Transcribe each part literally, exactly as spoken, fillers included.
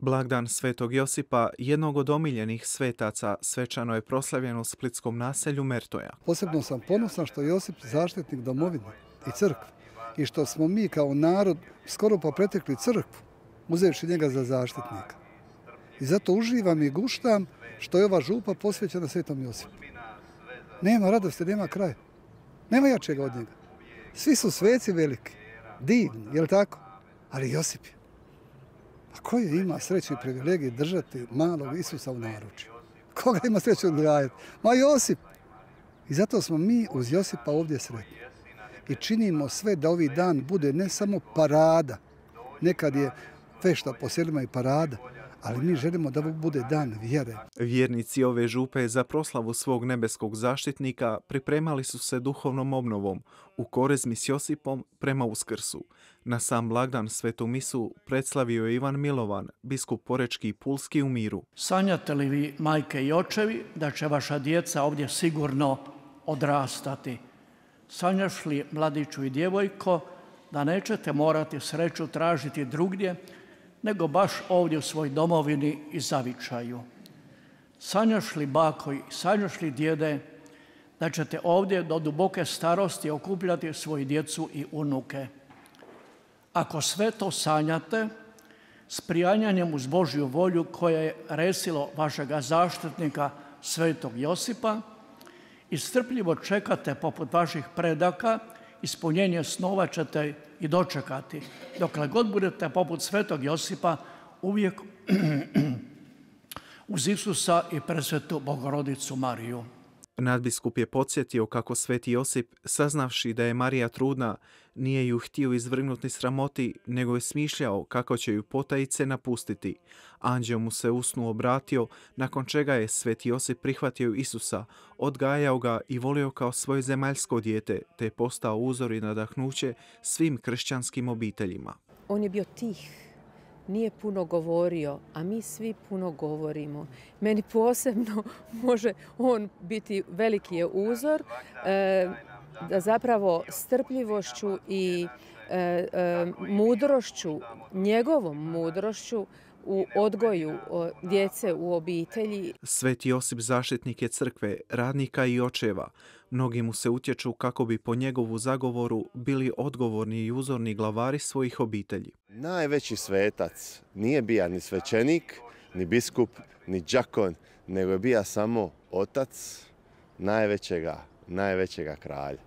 Blagdan Svetog Josipa, jednog od omiljenih svetaca, svečano je proslavljen u splitskom naselju Mertoja. Posebno sam ponosan što je Josip zaštitnik domovine i crkve i što smo mi kao narod skoro pa pretekli crkvu, uzevši njega za zaštitnika. I zato uživam i guštam što je ova župa posvećena Svetom Josipu. Nema radosti, nema kraja. Nema jačega od njega. Svi su sveci veliki, divni, je li tako? Ali Josip je. A ko je ima sreću i privilegiju držati malog Isusa u naručju? Koga ima sreću odgajati? Ma Josip! I zato smo mi uz Josipa ovdje sretni. I činimo sve da ovi dan bude ne samo parada, nekad je fešta po selima i parada, ali mi želimo da bude dan vjere. Vjernici ove župe za proslavu svog nebeskog zaštitnika pripremali su se duhovnom obnovom u Korezmi s Josipom prema Uskrsu. Na sam blagdan svetu misu predslavio je Ivan Milovan, biskup Porečki i Pulski u miru. Sanjate li vi, majke i očevi, da će vaša djeca ovdje sigurno odrastati? Sanjaš li, mladiću i djevojko, da nećete morati sreću tražiti drugdje, nego baš ovdje u svoj domovini i zavičaju? Sanjaš li, bako i sanjaš li, djede, da ćete ovdje do duboke starosti okupljati svoju djecu i unuke? Ako sve to sanjate, s prijanjanjem uz Božju volju koja je resilo vašega zaštitnika Svetog Josipa, i strpljivo čekate poput vaših predaka, ispunjenje snova ćete i dočekati, dokle god budete poput Svetog Josipa uvijek uz Isusa i presvetu Bogorodicu Mariju. Nadbiskup je podsjetio kako Sveti Josip, saznavši da je Marija trudna, nije ju htio izvrgnuti sramoti, nego je smišljao kako će ju potajice napustiti. Anđeo mu se u snu obratio, nakon čega je Sveti Josip prihvatio Isusa, odgajao ga i volio kao svoje zemaljsko dijete, te je postao uzor i nadahnuće svim kršćanskim obiteljima. On je bio tih. Nije puno govorio, a mi svi puno govorimo. Meni posebno može on biti veliki je uzor, e, da zapravo strpljivošću i e, e, mudrošću, njegovom mudrošću u odgoju djece u obitelji. Sveti Josip zaštitnik je crkve, radnika i očeva. Mnogi mu se utječu kako bi po njegovu zagovoru bili odgovorni i uzorni glavari svojih obitelji. Najveći svetac nije bija ni svećenik, ni biskup, ni đakon, nego je bija samo otac najvećega, najvećega kralja.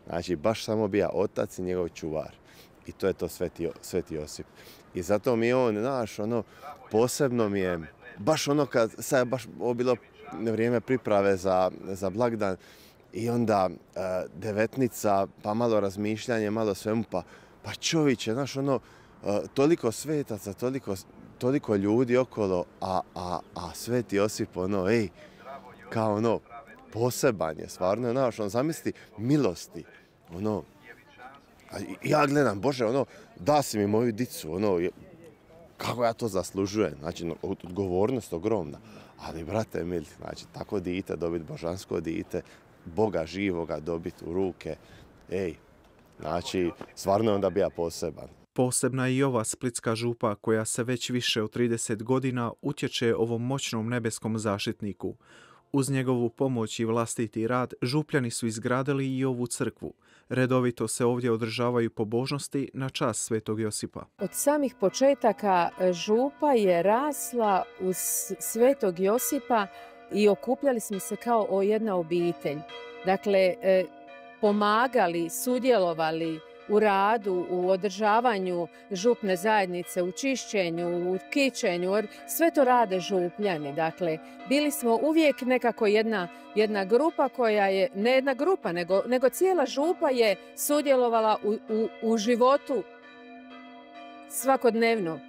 Znači, baš samo bija otac i njegov čuvar. I to je to Sveti, Sveti Josip. I zato mi je on, znaš, ono, posebno mi je, baš ono kad, sad je baš ovo bilo vrijeme priprave za, za blagdan, i onda e, devetnica, pa malo razmišljanje, malo svemu, pa, pa čovječe, znaš, ono, e, toliko svetaca, toliko, toliko ljudi okolo, a, a, a Sveti Josip, ono, ej, kao ono, poseban je, stvarno, znaš, on zamisli milosti, ono, a ja gledam, Bože, ono, da si mi moju dicu, ono, kako ja to zaslužujem, znači, odgovornost ogromna, ali, brate mili, znači, tako dite, dobiti božansko dite, Boga živoga dobiti u ruke, ej, znači, stvarno onda bija poseban. Posebna je i ova splitska župa koja se već više od trideset godina utječe ovom moćnom nebeskom zaštitniku. Uz njegovu pomoć i vlastiti rad župljani su izgradili i ovu crkvu. Redovito se ovdje održavaju pobožnosti na čast Svetog Josipa. Od samih početaka župa je rasla uz Svetog Josipa i okupljali smo se kao jedna obitelj. Dakle, pomagali, sudjelovali u radu, u održavanju župne zajednice, u čišćenju, u kićenju, sve to rade župljani. Dakle, bili smo uvijek nekako jedna, jedna grupa koja je, ne jedna grupa, nego, nego cijela župa je sudjelovala u, u, u životu svakodnevno.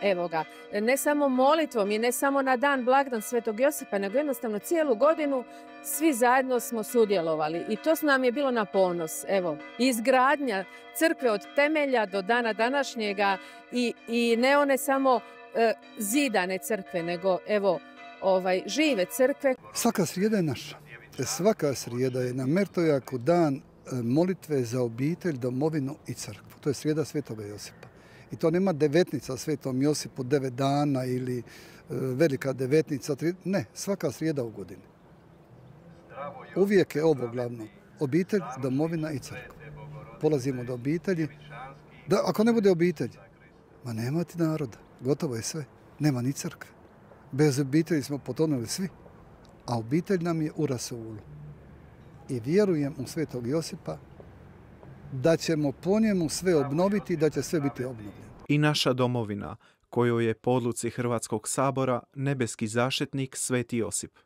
Evo ga, ne samo molitvom i ne samo na dan blagdan Svetog Josipa, nego jednostavno cijelu godinu svi zajedno smo sudjelovali i to nam je bilo na ponos. Evo, izgradnja crkve od temelja do dana današnjega i, i ne one samo e, zidane crkve, nego evo, ovaj, žive crkve. Svaka srijeda je naša. Svaka srijeda je na Mertojaku dan molitve za obitelj, domovinu i crkvu. To je srijeda Svetoga Josipa. I to nema devetnica Svetom Josipu, devet dana ili e, velika devetnica. Tri... Ne, svaka srijeda u godini. Uvijek je ovo glavno. Obitelj, domovina i crkva. Polazimo do obitelji. Da, ako ne bude obitelj, ma nema ti naroda. Gotovo je sve. Nema ni crkve. Bez obitelji smo potonuli svi. A obitelj nam je u rasulu. I vjerujem u Svetog Josipa da ćemo po njemu sve obnoviti i da će sve biti obnovljeno. I naša domovina, kojoj je po odluci Hrvatskog sabora nebeski zaštitnik Sveti Josip.